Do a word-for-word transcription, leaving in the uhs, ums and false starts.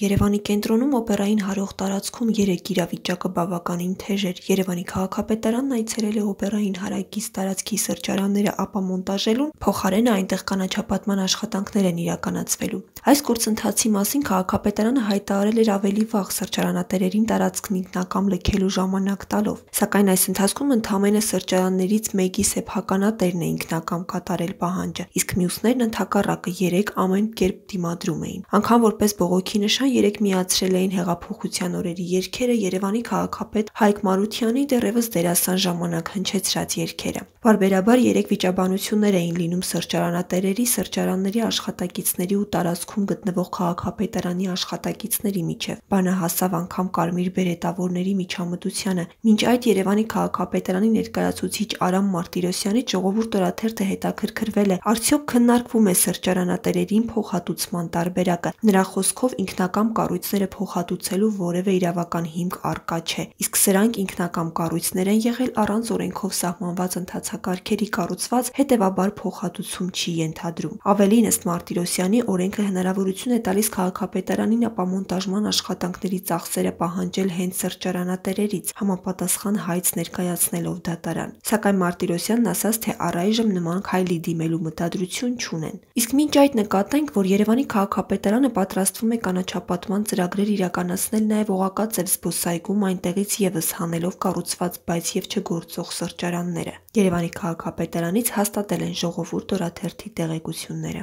Երևանի կենտրոնում օպերային հարող տարածքում երեկ իրավիճակը բավականին թեժ էր։ Երևանի քաղաքապետարանն այցելել է օպերային հարակից տարածքի սրճարանները ապամոնտաժելուն, փոխարենը այնտեղ կանաչապատման աշխատանքներ են իրականացվելու։ Այս գործընթացի մասին քաղաքապետարանը հայտարարել էր ավելի վաղ սրճարանատերերին տարածքն ինքնակամ լքելու ժամանակ տալով, սակայն այս ընթացքում ընդամենը սրճարաններից մեկի սեփականատերն է ինքնակամ կատարել պահանջը, իսկ մյուսներն ընդհակառակը երեկ ամեն կերպ դիմադրում էին։ Անգամ որպես բողոքի նշան երեկ միացրել էին հեղափոխության օրերի երգերը Երևանի քաղաքապետ Հայկ Մարությանի դեռևս դերասան ժամանակ հնչեցրած երգերը։ Պարբերաբար երեկ վիճաբանություններ էին լինում սրճարանատերերի, սրճարանների աշխատակիցների ու տարածքում գտնվող քաղաքապետարանի աշխատակիցների միջև։ Բանը հասավ անգամ կարմիր բերետավորների միջամտությանը։ Մինչ այդ Երևանի քաղաքապետարանի ներկայացուցիչ Արամ Մարտիրոսյանից Ժողովուրդ օրաթերթը հետաքրքրվել է՝ արդյոք քննարկվում է սրճարանատերերին փոխհատուցման տարբերակը։ Նրա խոսքով ինքնակամ կառույցները փոխհատուցելու որևէ իրավական հիմք առկա չէ, իսկ սրանք ինքնակամ կառույցներ են եղել առանց օրենքով սահմանված ընթացակարգերի կառուցված, հետևաբար փոխհատուցում չի ենթադրում։ Ավելին, ըստ Մարտիրոսյանի, օրենքը հնարավորություն է տալիս քաղաքապետարանին ապամոնտաժման աշխատանքների ծախսերը պահանջել հենց սրճարանատերերից, համապատասխան հայց ներկայացնելով դատարան։ Սակայն Մարտիրոսյանն ասաց, թե առայժմ նման քայլի դիմելու մտադրություն չունեն։ Իսկ մինչ այդ նկատենք, որ Երևանի քաղաքապետարանը պատրաստվում է կանաչապատման ծրագրեր իրականացնել նաև Օղակաձև զբոսայգում, այնտեղից ևս հանելով կառուցված, բայց եւ չգործող սրճարանները։ Երևանի քաղաքապետարանից հաստատել են Ժողովուրդ օրաթերթի տեղեկությունները։